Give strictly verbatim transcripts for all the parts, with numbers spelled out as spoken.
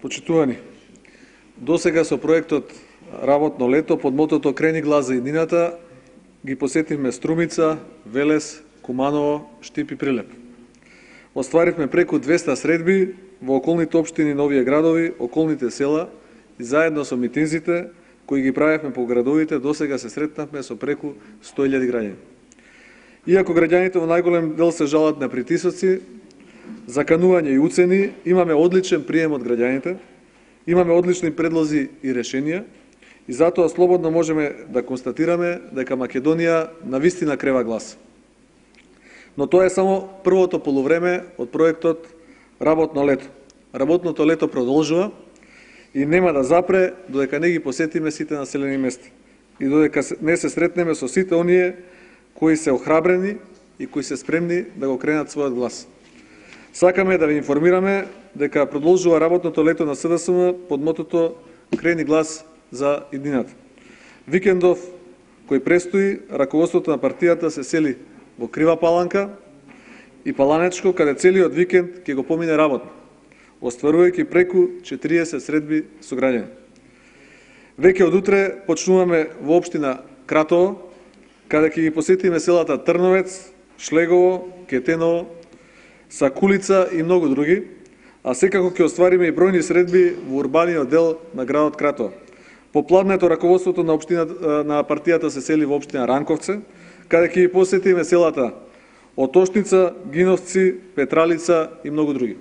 Почитувани, досега со проектот Работно лето под мотото Крени глас за иднината ги посетивме Струмица, Велес, Куманово, Штип и Прилеп. Остваривме преку двеста средби во околните општини Новија градови, околните села и заедно со митинзите кои ги правевме по градовите, досега се сретнавме со преку сто илјади граѓани. Иако граѓаните во најголем дел се жалат на притисоци, заканување и уцени, имаме одличен прием од граѓаните, имаме одлични предлози и решенија и затоа слободно можеме да констатираме дека Македонија навистина крева глас. Но тоа е само првото полувреме од проектот Работно лето. Работното лето продолжува и нема да запре додека не ги посетиме сите населени места и додека не се сретнеме со сите оние кои се охрабрени и кои се спремни да го кренат својот глас. Сакаме да ви информираме дека продолжува работното лето на СДСМ под мотото Крени глас за иднината. Викендов кој престои, раководството на партијата се сели во Крива Паланка и Паланечко, каде целиот викенд ќе го помине работно, остварувајќи преку четириесет средби со граѓани. Веќе од утре почнуваме во општина Кратово, каде ќе ги посетиме селата Трновец, Шлегово, Кетеново, Сакулица и многу други, а секако ќе оствариме и бројни средби во урбаниот дел на градот Кратово. Попладнето раководството на општината на партијата се сели во општина Ранковце, каде ќе ги посетиме селата Отошница, Гиновци, Петралица и многу други.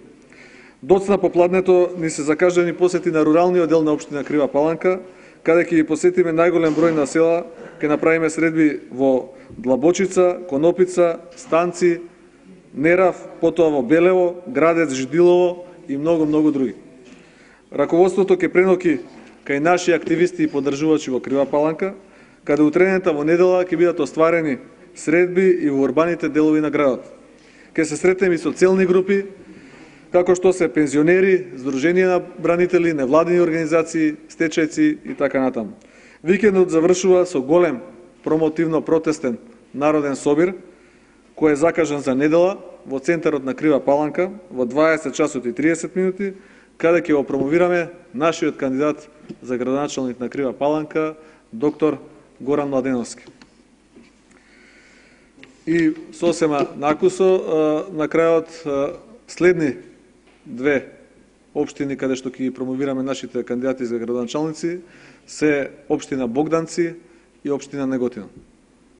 Доцна попладнето ни се закажани посети на руралниот дел на општина Крива Паланка, каде ќе ги посетиме најголем број на села, ќе направиме средби во Длабочица, Конопица, Станци, Нерав, потоа во Белево, Градец, Жидилово и многу, многу други. Раководството ќе преноки кај наши активисти и поддржувачи во Крива Паланка, каде утрената во недела ќе бидат остварени средби и во урбаните делови на градот. Ќе се сретнеме и со целни групи, како што се пензионери, Сдружение на бранители, невладини организации, стечајци и така натаму. Викендот завршува со голем промотивно-протестен народен собир, кој е закажан за недела во центарот на Крива Паланка во дваесет часот и триесет минути, каде ќе го промовираме нашиот кандидат за градоначалник на Крива Паланка, доктор Горан Младеновски. И сосема накусо, на крајот следни две општини каде што ќе ги промовираме нашите кандидати за градоначалници се општина Богданци и општина Неготино.